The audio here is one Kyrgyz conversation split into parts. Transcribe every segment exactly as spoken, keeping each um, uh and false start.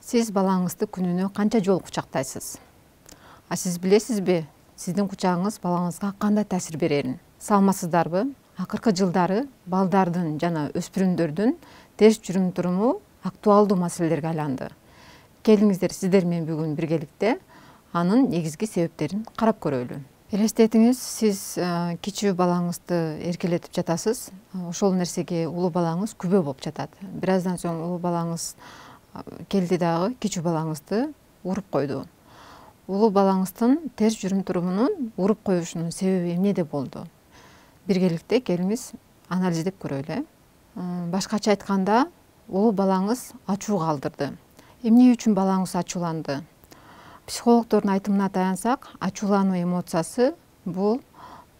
Сиз балаңызды күнүнө канча жолу кучактайсыз? А сиз билесизби, сиздин кучагыңыз балаңызга кандай таасир берерин? Саламатсыздарбы? Акыркы жылдары балдардын жана өспүрүмдөрдүн терс жүрүм туруму актуалдуу маселелерге айланды. Келиңиздер сиздер менен бүгүн биргеликте анын негизги себептерин карап көрөлү. Элестетиңиз, сиз кичүү балаңызды эркелетип жатасыз. Ошол нерсеге улуу балаңыз күбө болуп жатат. Бир аздан соң улуу балаңыз келди дагы кичүү балаңызды уруп койду. Улуу балаңыздын терс жүрүм турумунун уруп коюшунун себеби эмнеде болду? Биргеликте келиңиз анализдеп көрөлү. Башкача айтканда, улуу балаңыз ачуу калтырды. Эмне үчүн балаңыз ачууланды? Психологдордун айтымына таянсак, ачуулануу эмоциясы бул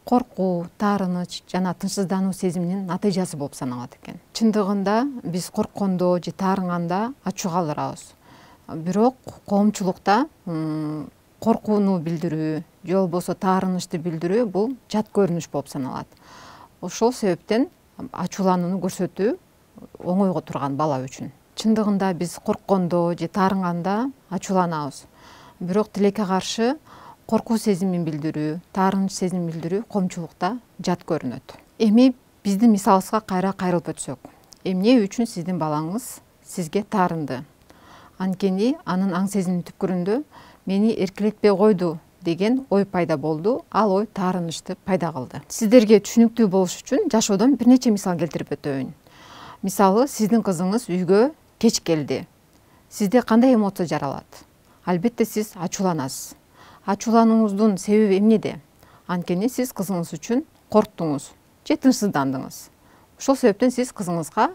коркуу, таарыныч жана тынчсыздануу сезиминин натыйжасы болуп саналат экен. Чындыгында биз корккондо же таарынганда ачуу калтырабыз. Бирок коомчулукта коркууну билдирүү же болбосо таарынычты билдирүү бул жат көрүнүш болуп саналат. Ошол себептен ачууланууну көрсөтүү оңойго турган бала үчүн. Чындыгында биз корккондо же таарынганда ачууланабыз. Бирок тилекке каршы коркуу сезимин билдирүү, таарыныч сезимин билдирүү коомчулукта жат көрүнөт. Эми биздин мисалыбызга кайра кайрылып өтсөк. Эмне үчүн сиздин балаңыз сизге таарынды? Анткени анын аң сезиминин түпкүрүндө мени эркелетпей койду деген ой пайда болду. Ал ой таарынычты пайда кылды. Сиздерге түшүнүктүү болуш үчүн жашоодон бир нече мисал келтирип өтөйүн. Мисалы, сиздин кызыңыз үйгө кеч келди. Сизде кандай эмоция жаралат? Албетте сиз ачууланасыз. Ачууланууңуздун себеби эмнеде? Анткени сиз кызыңыз үчүн корктуңуз же тынчсыздандыңыз. Ошол себептен сиз кызыңызга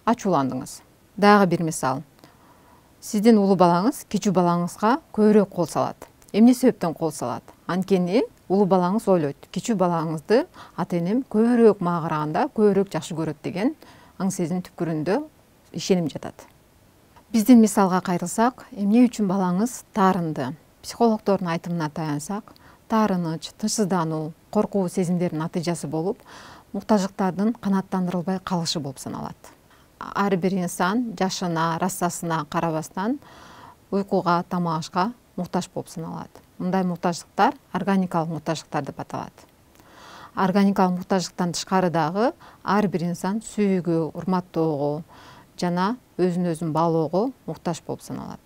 ачууландыңыз. Дагы бир мисал. Сиздин улуу балаңыз кичүү балаңызга көбүрөөк кол салат. Эмне себептен кол салат? Анткени улуу балаңыз ойлойт, кичүү балаңызды ата-энем көбүрөөк мага караганда көбүрөөк жакшы көрөт деген аң сезим түпкүрүндө ишеним жатат. Биздин мисалга кайрылсак, эмне үчүн балаңыз таарынды? Психологдордун айтымына таянсак, таарыныч, тынчсыздануу, коркуу сезимдердин натыйжасы болуп, муктаждыктардын канааттандырылбай калышы болуп саналат. Ар бир инсан жашына, расасына карабастан уйкуга, тамак ашка муктаж болуп саналат. Мындай муктаждыктар органикалык муктаждыктар деп аталат. Органикалык муктаждыктан тышкары дагы ар бир инсан сүйүүгө, урматтоого жана өзүн өзүн баалоого муктаж болуп саналат.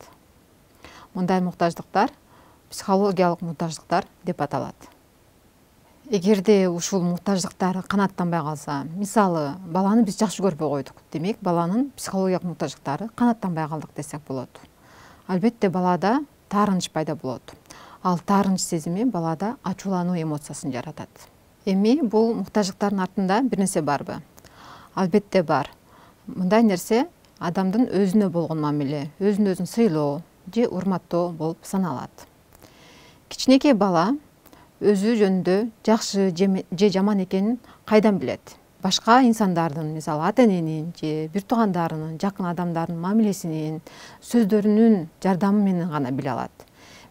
Мындай муктаждыктар психологиялык муктаждыктар деп аталат. Эгерде ушул муктаждыктар канааттанбай калса, мисалы, баланы биз жакшы көрбөй койдук, демек баланын психологиялык муктаждыктары канааттанбай калдык десек болот. Албетте балада таарыныч пайда болот. Ал таарыныч сезими балада ачуулануу эмоциясын жаратат. Эми бул муктаждыктардын артында бир нерсе барбы? Албетте бар. Мындай нерсе адамдын өзүнө болгон мамиле, өзүн өзүн сыйлоо же урматтоо болуп саналат. Кичинекей бала өзү жөнүндө жакшы же жаман экенин кайдан билет? Башка инсандардын, мисалы ата-эненин же бир туугандарынын, жакын адамдардын мамилесинин, сөздөрүнүн жардамы менен гана биле алат.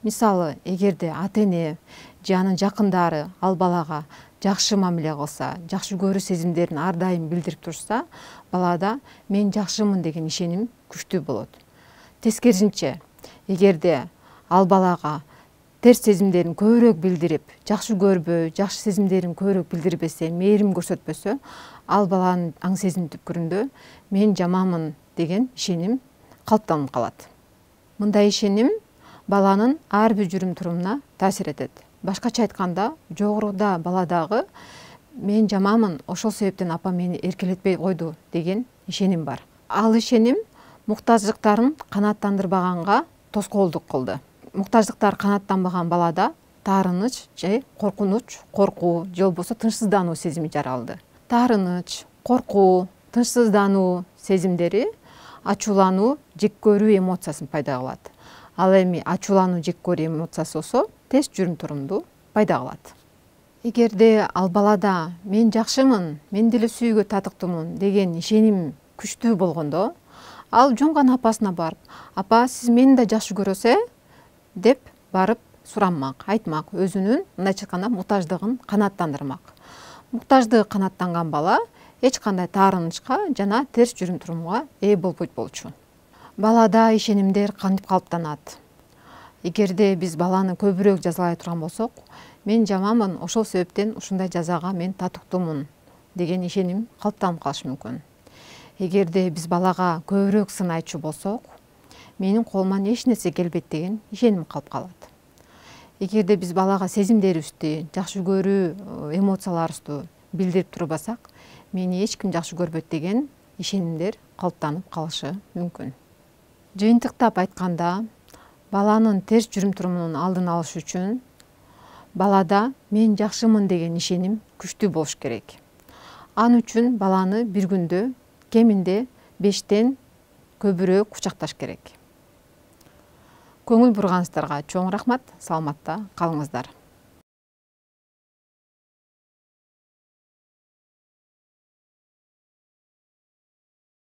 Мисалы, эгерде ата-эне же анын жакындары ал балага жакшы мамиле кылса, жакшы көрүү сезимдерин ар дайым билдирип турса, балада мен жакшымын деген ишеним күчтүү болот. Тескерисинче, эгерде ал балага терс сезимдерин көбүрөөк билдирип, жакшы көрбөй, жакшы сезимдерин көбүрөөк билдирбесе, мээрим көрсөтпөсө, ал баланын аң сезим түпкүрүндө мен жаманмын деген ишеним калыптанып калат. Мындай ишеним баланын ар бир жүрүм турумуна таасир этет. Башкача айтканда, жогоруда баладагы мен жаманмын, ошол себептен апа мени эркелетпей койду деген ишеним бар. Ал ишеним муктаждыктарын канааттандырбаганга тоскоолдук кылды. Муктаждыктар канааттанбаган балада таарыныч же коркунуч, коркуу же болбосо тынчсыздануу сезими жаралды. Таарыныч, коркуу, тынчсыздануу сезимдери ачуулануу, жек көрүү эмоциясын пайда кылат. Ал эми ачуулануу, жек көрүү эмоциясы болсо терс жүрүм турумду пайда кылат. Эгерде ал балада мен жакшымын, мен деле сүйүүгө татыктуумун деген ишеним күчтүү болгондо, ал жөн гана апасына барып, апа сиз мени да жакшы көрөсүз э? деп барып сурамак, айтмак, өзүнүн мындайча айтканда муктаждыгын канааттандырмак. Муктаждыгы канааттанган бала эч кандай таарынычка жана терс жүрүм турумга ээ болбойт болчу. Балада ишенимдер кантип калыптанат? Эгерде биз баланы көбүрөөк жазалай турган болсок, мен жаманмын, ошол себептен ушундай жазага мен татыктуумун деген ишеним калыптанып калышы мүмкүн. Эгерде биз балага көбүрөөк сын айтчу болсок, менин колуман эч нерсе келбейт деген ишеним калып калат. Эгерде биз балага сезимдерибизди, жакшы көрүү эмоцияларыбызды билдирип турбасак, мени эч ким жакшы көрбөйт деген ишенимдер калыптанып калышы мүмкүн. Жыйынтыктап айтканда, баланын терс жүрүм-турумунун алдын алыш үчүн балада мен жакшымын деген ишеним күчтүү болуш керек. Ал үчүн баланы бир күндө кеминде бештен көбүрөөк кучакташ керек. Көңүл бурганыңыздарга чоң рахмат, саламатта калыңыздар.